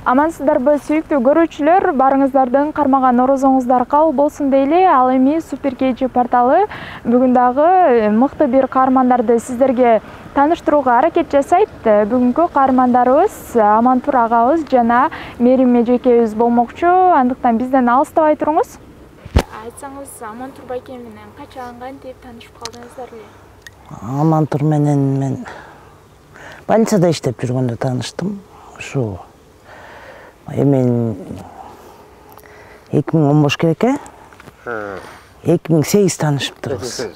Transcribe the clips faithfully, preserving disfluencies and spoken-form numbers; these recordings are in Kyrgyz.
Амансыздарбы сүйүктүү көрүүчүлөр, барыңыздардын кармаган орозоңуздар кабыл болсун дейли. Ал эми Супер Кечи порталы бүгүн дагы мыкты бир каармандарды сиздерге тааныштырууга аракет жасайт. Бүгүнкү каармандарыбыз Амантур агабыз жана Мерим эжекебиз болмокчу. Андыктан бизден алыстабай туруңуз. Айтсаңыз, Амантур байке менен качан кантип таанышып калдыңыздар эле? Амантур менен мен больницада иштеп жүргөндө тааныштым. Ушу эми эки миң он беш керек э? эки миң сегиз таанышыптырбыз.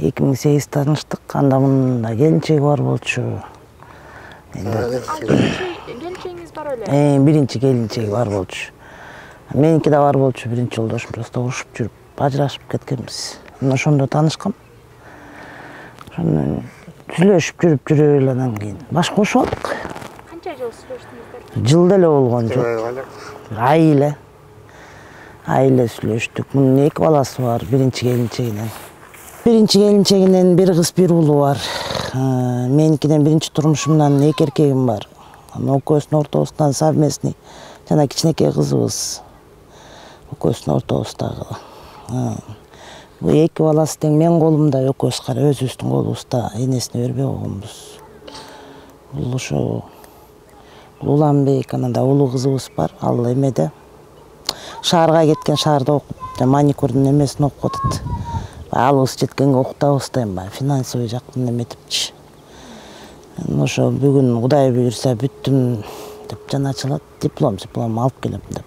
эки миң сегиз тааныштык. Анда мында келинчеги бар болчу. Келинчегиңиз бар эле? Э, биринчи келинчеги бар болчу. Меники да бар болчу. Биринчи жолдошум просто урушуп жүрүп, ажырашып кеткенбиз. Мына ошондо таанышкам. Ошондон сүйлөшүп жүрүп жүрүп эле андан кийин баш кошуп алдык. Канча жыл сүйлөштүңүздөр? Жыл деле болгон жок. Ай эле. Ай эле сүйлөштүк. Мунун эки баласы бар, биринчи келинчегинен. Биринчи келинчегинен бир кыз, бир уулу бар. Меникиден биринчи турмушумдан эки эркегим бар. Экөөбүздүн ортобуздан совместный жана кичинекей кызыбыз. Экөөбүздүн ортобуздагы. Бул эки баласы тең менин колумда, экөөбүз кара өзүбүздүн колубузда, энесине бербей койгонбуз. Бул ошо Уланбек, анан да улуу кызыбыз бар. Ал эмеде шаарга кеткен, шаарда окуп, маникюрдун эмесин окуп атат. Алыбыз жеткенге окутабыз да, эми финансовый жактан эметипчи. Ошо бүгүн Кудай буйрса бүттүм деп жана ачылат, диплом, диплом алып келем деп.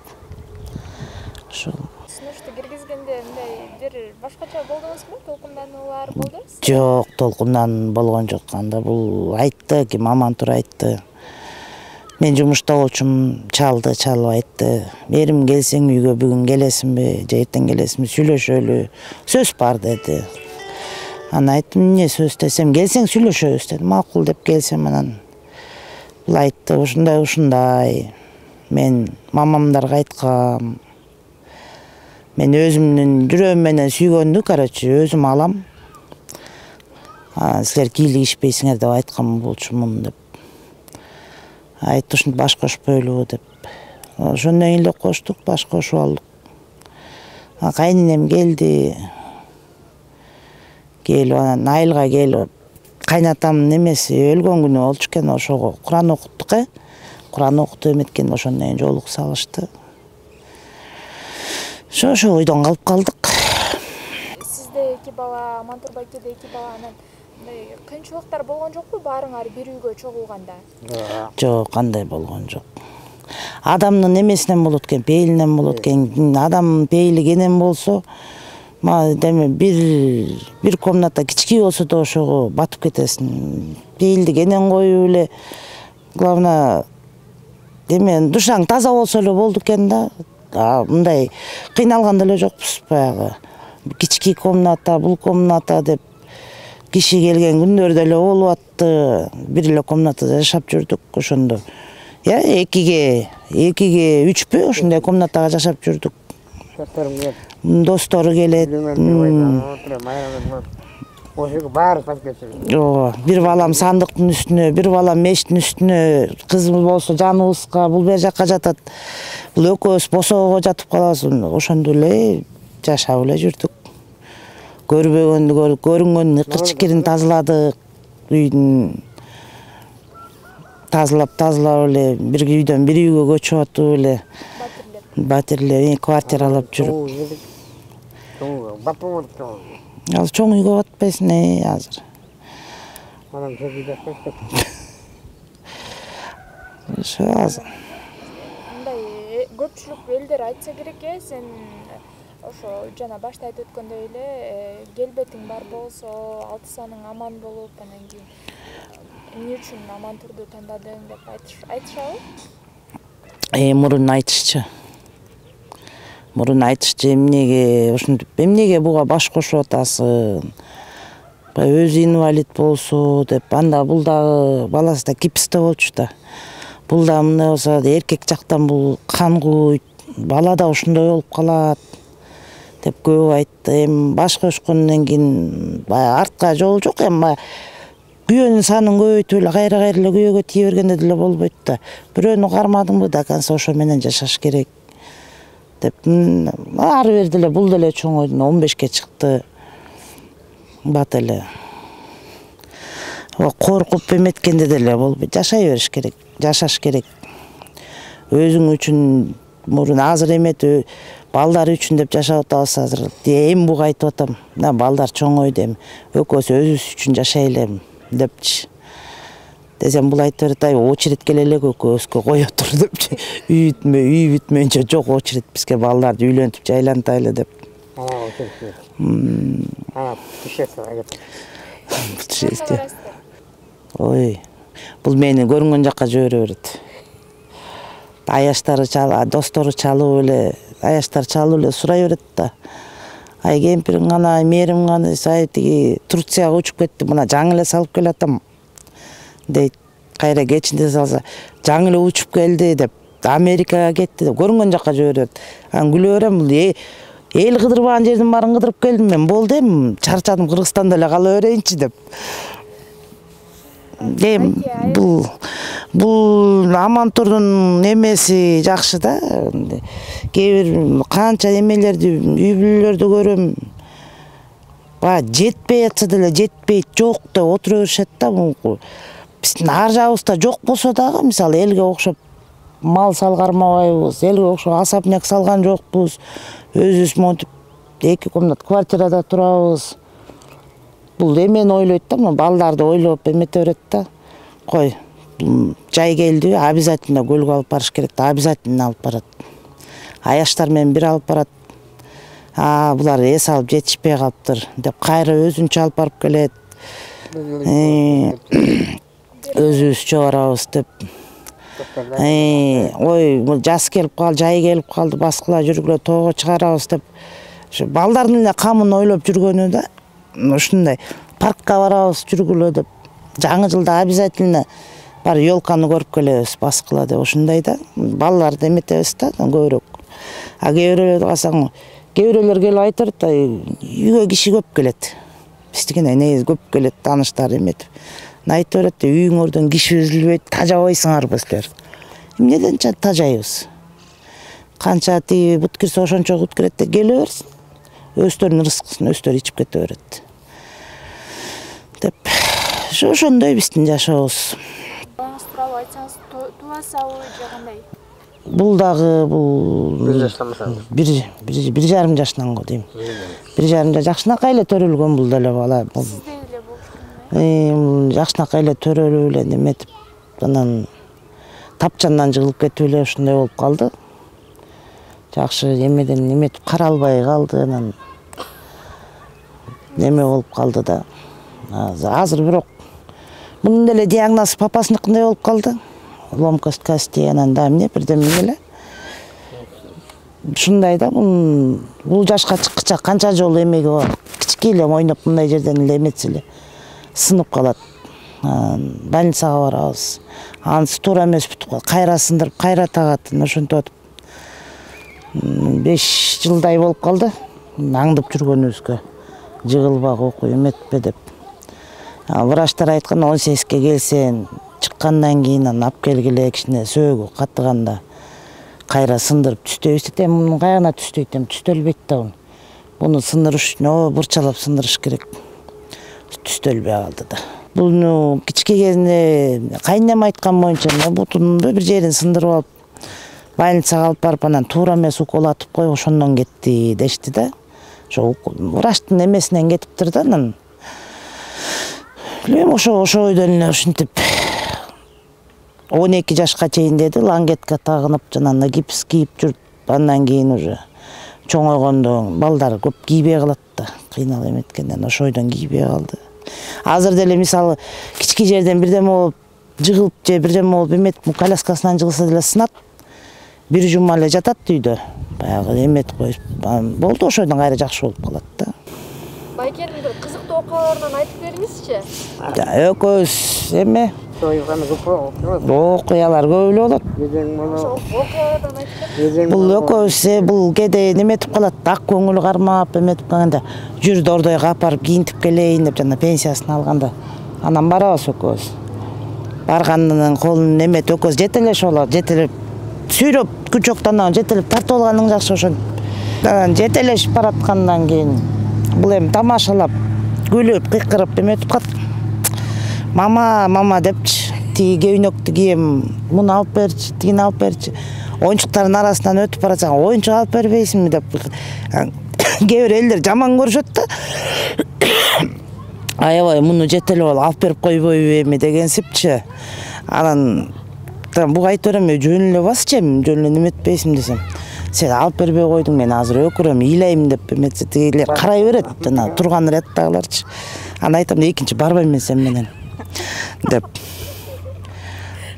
Ошо. Сунушту киргизгенде мындай бир башкача болдуңузбу? Толкундануулар болдубу? Жок, толкундан болгон жок. Анда бул айтты, ким Амантур айтты. Мен жумушта болчум, чалды, чалып айтты. Мерим, келсең үйгө бүгүн келесиңби, же эртең келесиңби, сүйлөшөлү. Сөз бар деди. Анан айттым, эмне сөз десем, келсең сүйлөшөбүз деди. Макул деп келсем, анан бул айтты, ушундай ушундай. Мен мамамдарга айткам. Мен өзүмдүн жүрөгүм менен сүйгөндү, короче, өзүм алам. Анан силер кийлигишпейсиңер деп айткан болчумун деп. Айтты, ушинтип баш кошпойлу деп. Ошондон кийин эле коштук, баш кошуп алдык. Кайненем келди. Келип анан айылга келип, кайнатамдын эмеси өлгөн күнү болчу экен, ошого Куран окуттук э. Куран окутуп эметкен, ошондон кийин жолук салышты. Ошо ошо ойдон калып калдык. Сизде эки бала, Амантур байкеде эки бала, анан кыйынчылыктар болгон жокпу баарыңар бир үйгө чогулганда? Жок, кандай болгон жок. Адамдын эмесинен болот экен, пейилинен болот экен. Адам пейили кенен болсо, деме бир бир комната кичкей болсо да ошого батып кетесиң. Пейилди кенен коюп эле, главное, деме душаң таза болсо эле болду экен да. Мындай кыйналган деле жокпуз баягы. Кичкей комната, бул комната деп киши келген күндөр деле болуп атты. Бир эле комнатада жашап жүрдүк ошондо. Я экиге, экиге үчпү ошондой комнатага жашап жүрдүк. Достору келет. Ошого баары тап кетти. Ооба, бир балам сандыктын үстүнө, бир балам мештин үстүнө, кызым болсо жаныбызга, бул бер жакка жатат. Бул экөөбүз босоого жатып калабыз. Ошондо эле жашап эле жүрдүк. Көрбөгөндү көрүп, көрүнгөндүн ыкыр-чикирин тазаладык. Үйдүн тазалап, тазалап эле бир үйдөн бир үйгө көчүп атып эле. Батирлеп, квартиралап жүрүп. Ал чоң үйгө батпайсың э азыр. Анан сөзүдө Ошо азыр. Мындай көпчүлүк элдер айтса керек э, сен ошо жана башта айтып өткөндөй эле келбетиң бар болсо, алты саның аман болуп, анан кийин эмне үчүн Амантурду тандадың деп айтышабы? Э, мурун айтышчу. Мурун айтышчу, эмнеге ушинтип, эмнеге буга баш кошуп атасың? Өзү инвалид болсо деп, анда бул дагы баласы да гипсте болчу да. Бул да мындай болсо, эркек жактан бул кан куйт, бала да ушундай болуп калат деп көп айтты. Эми баш кошкондон кийин артка жол жок, эми күйөнүн санын көбөйтүп эле кайра кайра эле күйөөгө тие бергенде деле болбойт да. Бирөөнү кармадыңбы, до конца ошо менен жашаш керек деп. Ары бери деле бул деле чоңойду, он бешке чыкты. Бат эле. Коркуп эметкенде деле болбойт. Жашай бериш керек, жашаш керек. Өзүң үчүн мурун азыр эметип, балдар үчүн деп жашап атабыз азыр. Эми буга айтып атам. Мына балдар чоңойду эми. Экөөсү өзүбүз үчүн жашайлы депчи. Десем бул айтып берет, ай очередь келе элек экөөбүзгө кое тур депчи. Үй бүтмөй, үй бүтмөйүнчө жок очередь бизге балдарды үйлөнтүп жайлантайлы деп. Ана очередь. Ана путешествие кетет. Путешествие. Ой, бул мени көрүнгөн жакка жибере берет. Аяштары чалып, достору чалып эле, аяштар чалып эле сурай берет да. Ай кемпириң кана, мээрим кана, ай тиги Турцияга учуп кетти, мына жаңы эле салып келатам дейт. Кайра кечинде салса, жаңы эле учуп келди деп, Америкага кетти деп, көрүнгөн жакка жибере берет. Анан күлө берем, бул эл кыдырбаган жердин баарын кыдырып келдим мен, болду эми, чарчадым, Кыргызстанда эле кала берейинчи деп. Эми бул бул Амантурдун эмеси жакшы да. Кээ бир канча эмелерди, үй бүлөлөрдү көрөм. Ба жетпей атса деле жетпейт, жок деп отура беришет да. Биздин ар жагыбызда жок болсо дагы, мисалы элге окшоп мал салгармабайбыз, элге окшоп асабняк салган жокпуз. Өзүбүз монтип эки комнат квартирада турабыз. Бул эмени ойлойт да, балдарды ойлоп эмете берет да. Кой, жай келди, обязательно көлгө алып барыш керек да, обязательно алып барат. Аяштар менен бир алып барат. А, булар эс алып жетишпей калыптыр деп кайра өзүнчө алып барып келет. Өзүбүзчө барабыз деп. Ой, жаз келип калды, жай келип калды, баскыла жүргүлө тоого чыгарабыз деп. Ошо балдардын эле камын ойлоп жүргөнү да. Ушундай паркка барабыз жүргүлө деп. Жаңы жылда обязательно бар ёлканы көрүп келебиз, баскыла деп. Ушундай да. Балдарды эметебиз да, көбүрөөк. А кээ бирөөлөрдү калсаң, кээ бирөөлөр келип айтып, үйгө киши көп келет. Биздикине негизи көп келет, тааныштар эметип. Айтып берет, үйүңөрдөн киши үзүлбөйт, тажабайсыңарбы силер. Эмнеден тажайбыз? Канча тиги бут кирсе ошончо бут кирет деп келе берсин. Өздөрүнүн рызкысын өздөрү ичип кете берет. Деп, ошондой биздин жашообуз. Балаңыз тууралуу айтсаңыз, тубасабы же кандай? Бул дагы бул бир жаштан баштап. бир бир жарым жашынан го дейм. Бир жарым жаш жакшынакай эле төрөлгөн бул деле бала. Сиздей эле болчу. Э, жакшынакай эле төрөлүп эле неметип, анан тапчандан жыгылып кетип эле ушундай болуп калды. Жакшы эмеден неметип каралбай калды, анан неме болуп калды да. Азыр бирок мунун деле диагноз папасыныкындай болуп калды. Ломкость кости, анан да эмне бирдеме эле. Ушундай да, бул жашка чыккыча канча жолу эмеге барып, кичке эле ойноп мындай жерден эле эметсе эле сынып калат. Больницага барабыз. Анысы туура эмес бүтүп калат. Кайра сындырып, кайра тагат, ошентип атып. беш жылдай болуп калды. Аңдып жүргөнүбүзгө. Жыгылбак окуй эметпе деп. Врачтар айткан он сегизге келсен, чыккандан кийин анан алып келгиле, кичине сөөгү каттыганда кайра сындырып түстөйбүз деп, мунун кайгына түстөйт, эми түстөлбөйт да бул. Буну сындырыш үчүн бурчалап сындырыш керек. Түстөлбөй калды да. Буну кичке кезинде кайнем айткан боюнча бутунун бир жерин сындырып алып, больницага алып барып, анан туура эмес уколатып коюп, ошондон кетти дешти да. Ошо врачтын эмесинен кетиптир да, анан Эми ошо ошо ойдон эле ушинтип он эки жашка чейин деди, лангетка тагынып, жанагындай гипс кийип жүрүп, андан кийин уже чоңойгондо балдар көп кийбей калат да, кыйналып эметкенден ошо ойдон кийбей калды. Азыр деле мисалы кички жерден бирдеме болуп жыгылып же бирдеме болуп эметип коляскасынан жыгылса деле сынат. Бир жума эле жатат үйдө. Баягы эметип коюп болду, ошойдон кайра жакшы болуп калат да. Байкенин бир кызыктуу окуяларынан айтып бериңизчи. Экөөбүз эме окуялар көп эле болот. Окуялардан айтып Бул экөөбүз бул кээде неметип калат, ак көңүл кармап эметип калганда, жүр Дордойго алып барып кийинтип келейин деп, жана пенсиясын алганда Анан барабыз экөөбүз. Барганын колун эметип экөөбүз жетелешип алат, жетелеп сүйрөп күчөктөн жетелеп тартып алганың жакшы ошентип. Анан жетелешип бараткандан кийин бул эми тамашалап, күлүп, кыйкырып эметип калат. Мама, мама депчи, тиги кебинөктү кийем, муну алып берчи, тигини алып берчи. Оюнчуктардын арасынан өтүп баратсаң, оюнчук алып бербейсиңби деп. Кээ бир элдер жаман көрүшөт да. Аябай муну жетелеп алып алып берип койбойбу эми дегенсипчи. Анан буга айтып берем, жөн эле басчы эми, жөн эле неметпейсиң десем. Сен алып бербей койдуң, мен азыр өкүрөм, ыйлайм деп эметсе тигилер карай берет, жана турган ряттагыларчы. Анан айтам, экинчи барбайм мен сен менен деп.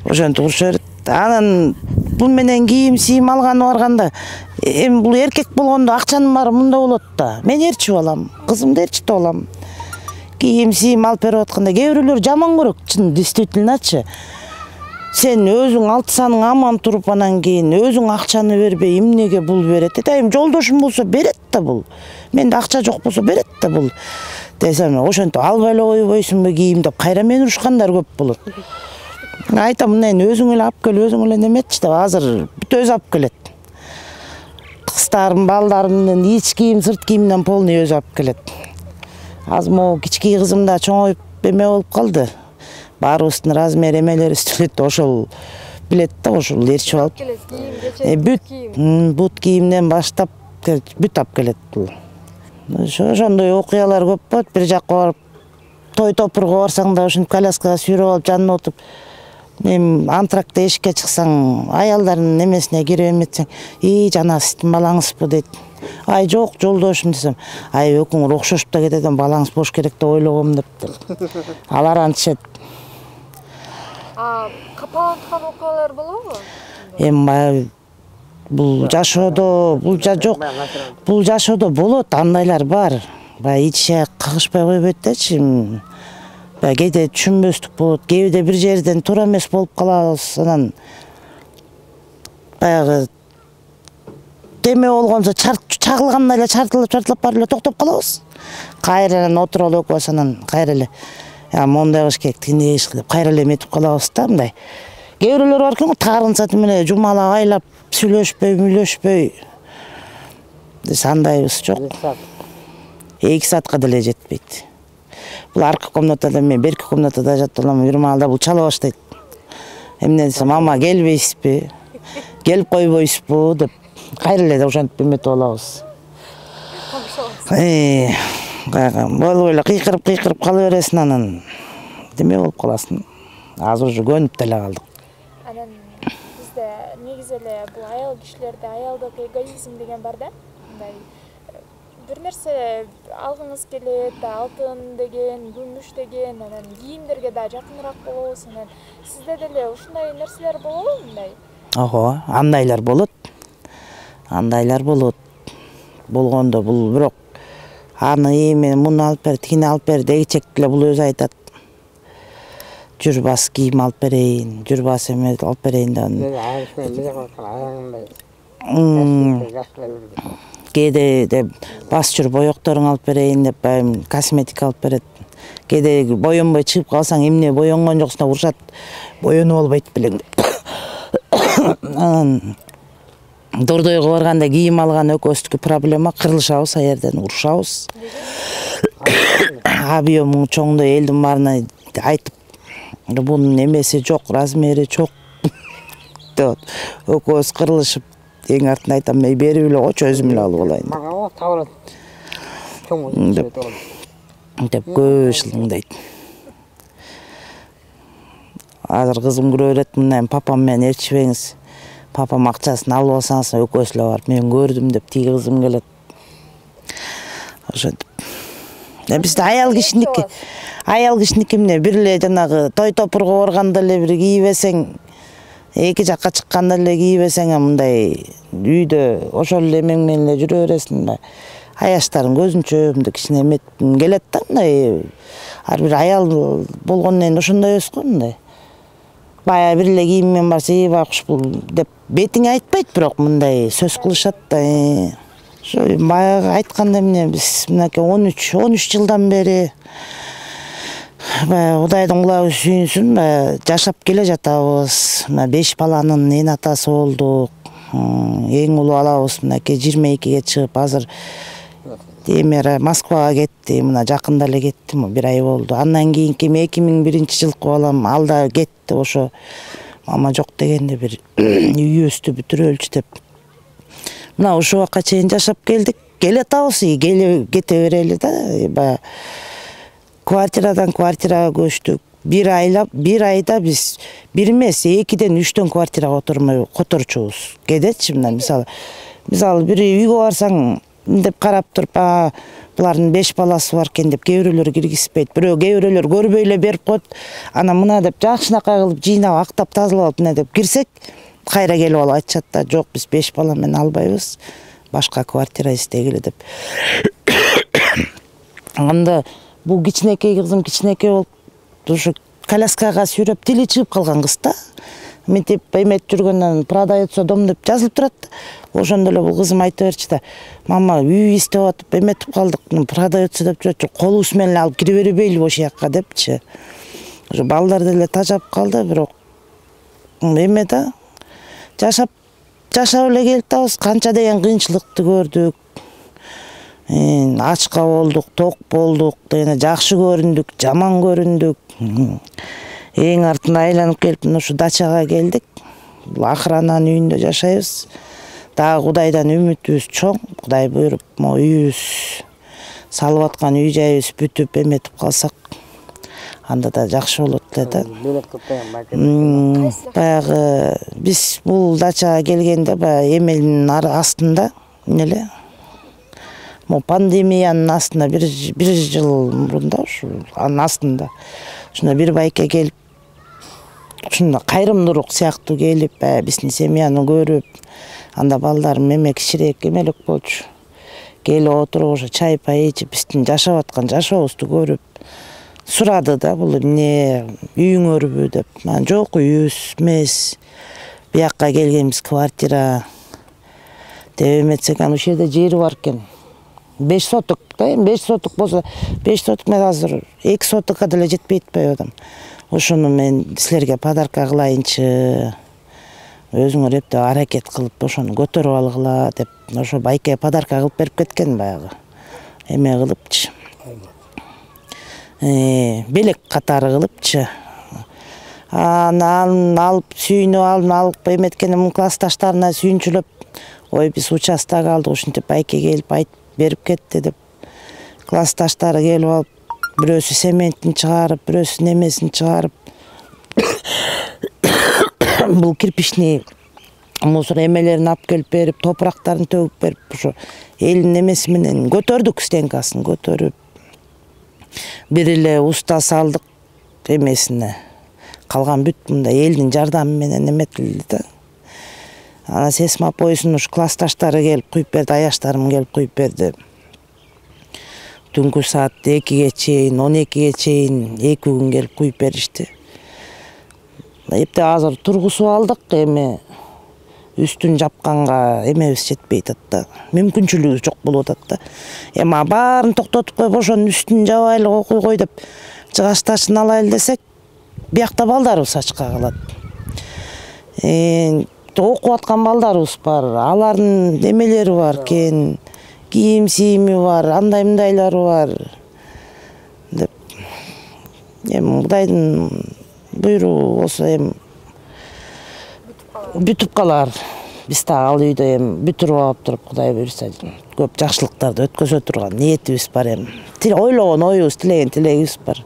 Ошентип урушуп берет. Анан бул менен кийим сийим алганы барганда, эми бул эркек болгондо акчанын баары мында болот да. Мен ээрчип алам, кызымды ээрчитип алам. Кийим сийим алып берип атканда кээ бирөөлөр жаман көрөт, чын действительночы. Сен өзүң алтысаның аман туруп анан кийин өзүң акчаны бербей эмнеге бул берет? Эми жолдошум болсо берет да бул. Менде акча жок болсо берет да бул. Десем, ошентип албай эле койбойсуңбу кийим деп кайра мени урушкандар көп болот. Айтам, мына өзүң эле алып кел, өзүң эле неметчи деп, азыр бүт өзү алып келет. Кыздарым, балдарымдын ич кийим, сырт кийимден полный өзү алып келет. Азыр могу кички кызым да чоңоюп эме болуп калды. Баарыбыздын размер эмелери үстөлөт, ошол билет да, ошол ээрчип алып. Бүт бут кийимден баштап бүт алып келет бул. Ошондой окуялар көп болот. Бир жакка барып, той топурга барсаң да ошентип коляскага сүйрөп алып жанына отуруп, эми антракта эшикке чыксаң, аялдардын немесине кирип эметсең, "И, жана сиздин балаңызбы?" дейт. Ай, жок, жолдошум десем, "Ай, экөөңөр окшошуп да кетет, балаңыз бош керек деп ойлогом" деп. Алар антышет. А капаланткан окуялар болобу? Эми баягы бул жашоодо, бул жок. Бул жашоодо болот, андайлар бар. Баягы иче кагышпай койбойт дачы. Баягы кээде түшүнбөстүк болот, кээде бир жерден туура эмес болуп калабыз. Анан баягы теме болгонсо чагылгандай эле чартылып чартылап барып эле токтоп калабыз. Кайрадан отуруп алып экөөбүз анан кайра эле мондай кылыш керек, тигиндей кылыш керек деп кайра эле эметип калабыз да мындай. Кээ бирөөлөр бар экен, таарынса тиме жумалап айлап сүйлөшпөй, мүлөшпөй. Биз андайбыз жок. эки саатка деле жетпейт. Бул аркы комнатада, мен берки комнатада жатып алам, бир маалда бул чала баштайт. Эмне десем, "Мама, келбейсизби? Келип койбойсузбу?" деп кайра эле ошентип эметип алабыз. Э, болбой эле кыйкырып кыйкырып кала бересиң, анан деме болуп каласың. Азыр уже көнүп деле калдык. Анан бизде негизи эле бул аял кишилерде аялдык эгоизм деген бар да. Мындай бир нерсе алгыңыз келет, алтын деген, күмүш деген, анан кийимдерге да жакыныраак болобуз. Анан сизде деле ушундай нерселер болобу мындай? Ого, андайлар болот. Андайлар болот. Болгондо бул бирок аны эми муну алып бер, тигини алып бер дегичек деле бул өзү айтат. Жүрбас кийим алып берейин, жүрбас эме алып берейин деп. Кээде деп бас жүр боекторуң алып берейин деп, косметика алып берет. Кээде боенбой чыгып калсаң, эмне боенгон жоксуң деп урушат. Боенуп албайт белең деп. Анан Дордойго барганда кийим алган экөөбүздүкү проблема, кырылышабыз, а жерден урушабыз. Объему чоңдой элдин баарына айтып, бунун эмеси жок, размери жок деп экөөбүз кырылышып, эң артында айтам, мен берип эле койчу, өзүм эле алып алайын деп. Деп көп шылыңдайт. Азыр кызым көрө берет, мына папам менен ээрчибеңиз. Папам акчасын алып алсаңыз, экөөбүз эле барып мен көрдүм деп тиги кызым келет. Ошентип. Бизде аял кишиники, аял кишиники эмне, бир эле жанагы той топурга барганда эле бир кийбесең, эки жакка чыкканда эле кийбесең, мындай үйдө ошол эле эмең менен эле жүрө бересиң да. Аяштарын көзүнчө мындай кичине эметким келет да, мындай. Ар бир аял болгондон кийин ошондой эмес го мындай. Бая бир эле кийиммен барса, "Эй, байкуш бул" деп бетиңе айтпайт, бирок мындай сөз кылышат да. Ошо баягы айтканда эмне, биз мынакей он үч жылдан бери Кудайдын кулабы сүйүнсүн, жашап келе жатабыз. Мына беш баланын эн атасы болдук. Эң улуу алабыз мынакей жыйырма экиге чыгып, азыр эмер Москвага кетти. Мына жакында эле кетти, бир ай болду. Андан кийинки эки миң биринчи жылкы балам ал да кетти. Ошо мама жок дегенде бир үйүбүздү бүтүрөлчү деп. Мына ушул убакка чейин жашап келдик. Келе атабыз, кете берели да. Квартирадан квартирага көчтүк. Бир айлап, бир айда биз бир эмес, экиден үчтөн квартирага отурмай которчубуз. Кедетчи мына мисалы. Мисалы бир үйгө барсаң деп карап туруп, а булардын беш баласы бар экен деп кээ бирөөлөр киргизбейт. Бирөө кээ бирөөлөр көрбөй эле берип коет. Ана мына деп жакшынакай кылып жыйнап, актап, тазалап мына деп кирсек, кайра келип алып айтышат да, жок, биз беш бала менен албайбыз. Башка квартира издегиле деп. Анда бул кичинекей кызым кичинекей болуп, ушу коляскага сүйрөп тили чыгып калган кыз да. Мынтип эметип жүргөндөн продается дом деп жазылып турат. Ошондо эле бул кызым айта берчү да, мама үй издеп атып эметип калдык, продается деп жүрөт, колубуз менен алып кире бербейлиби ошол жакка депчи. Ошо балдар деле тажап калды, бирок эме да, жашап жашап эле келатабыз, канча деген кыйынчылыкты көрдүк. Ачка болдук, ток болдук, дегене жакшы көрүндүк, жаман көрүндүк. Эң артында айланып келип ушу дачага келдик. Бул охрананын үйүндө жашайбыз. Дагы Кудайдан үмүтүбүз чоң. Кудай буйруп, могу үйүбүз салып аткан үй жайыбыз бүтүп эметип калсак, анда да жакшы болот эле да. Баягы биз бул дачага келгенде баягы эмелдин астында эле, могу пандемиянын астында бир бир жыл мурунда ушу анын астында ушунда бир байке келип, ушунда кайрымдуулук сыяктуу келип, биздин семьяны көрүп, анда балдарым эме кичирээк эмелек болчу. Келип отуруп, ошо чай пай ичип, биздин жашап аткан жашообузду көрүп, сурады да, бул эмне үйүңөрбү деп. Анан жок, үйүбүз эмес, биякка келгенбиз квартира деп эметсек, анан ушул жерде жери бар экен. беш соток да, эми беш соток болсо, беш соток мен азыр эки сотокко деле жетпей атпайбы адам. Ошону мен силерге подарка кылайынчы, өзүңөр эптеп аракет кылып ошону көтөрүп алгыла деп, ошо байке подарка кылып берип кеткен баягы. Эме кылыпчы. Э, белек катары кылыпчы. Анан алып сүйүнүп алып, алып эметкенде классташтарына сүйүнчүлөп, ой биз участок алдык, ушинтип байке келип айтып берип кетти деп. Классташтары келип алып, бирөөсү сементин чыгарып, бирөөсү немесин чыгарып. Бул кирпичный мусор эмелерин алып келип берип, топурактарын төгүп берип, ошо элдин немеси менен көтөрдүк, стенкасын көтөрүп. Бир эле уста салдык эмесине. Калган бүт мында элдин жардамы менен эметилди да. Анан сесмопойсун ушу классташтары келип куюп берди, аяштарым келип куюп берди. Түнкү саат экиге чейин, он экиге чейин эки күн келип куюп беришти. Эптеп азыр тургусуп алдык, эми үстүн жапканга эмебиз жетпей атат да. Мүмкүнчүлүгү жок болуп атат да. Эми баарын токтотуп коюп, ошонун үстүн жабайлы окуй деп, жыгачташын алайлы десек, биякта балдарыбыз ачка калат. Э, окуп аткан балдарыбыз бар, алардын эмелери бар экен, кийим-сийими бар, андай-мындайлары бар деп. Эми Кудайдын буйругу болсо эми бүтүп калар. Биз да ал үйдө эми бүтүрүп алып туруп, Кудай буйруса көп жакшылыктарды өткөзө турган ниетибиз бар эми. Ойлогон оюбуз, тилеген тилегибиз бар.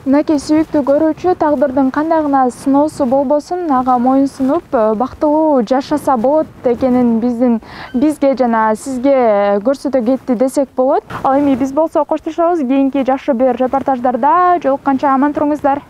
Мынакей сүйүктүү көрүүчү, тагдырдын кандай гана сыноосу болбосун, ага моюнсунуп, бактылуу жашаса болот экенин биздин бизге жана сизге көрсөтө кетти десек болот. Ал эми биз болсо коштошобуз. Кийинки жакшы бир репортаждарда жолукканча аман туруңуздар.